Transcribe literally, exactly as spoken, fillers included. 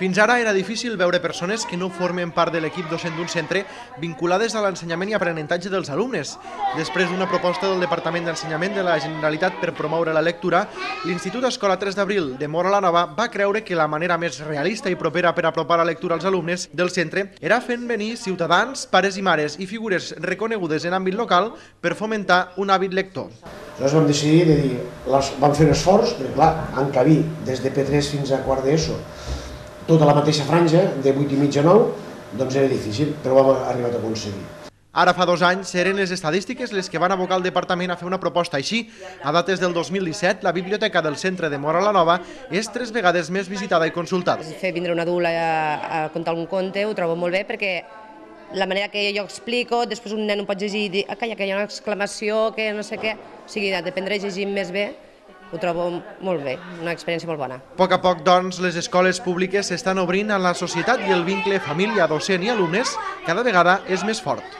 Fins ara era difícil veure persones que no formen part de l'equip docent d'un centre vinculades a l'ensenyament i aprenentatge dels alumnes. Després d'una proposta del Departament d'Ensenyament de la Generalitat per promoure la lectura, l'Institut Escola tres d'Abril de Móra la Nova va creure que la manera més realista i propera per apropar la lectura als alumnes del centre era fent venir ciutadans, pares i mares i figures reconegudes en àmbit local per fomentar un hàbit lector. Llavors vam decidir de dir, vam fer un esforç, perquè clar, encabir des de P tres fins a quart d'ESO tota la mateixa franja, de vuit i mig a nou, doncs era difícil, però ho hem arribat a aconseguir. Ara fa dos anys eren les estadístiques les que van abocar el departament a fer una proposta així. A dates del dos mil disset, la biblioteca del centre de Móra la Nova és tres vegades més visitada i consultada. Fer vindre un adult a, a contar algun conte ho trobo molt bé perquè la manera que jo explico, després un nen ho pot llegir i dir ah, calla, que hi ha una exclamació, que no sé què, o sigui, d'aprendre a llegir més bé, ho trobo molt bé, una experiència molt bona. A poc a poc, doncs, les escoles públiques s'estan obrint a la societat i el vincle família, docent i alumnes cada vegada és més fort.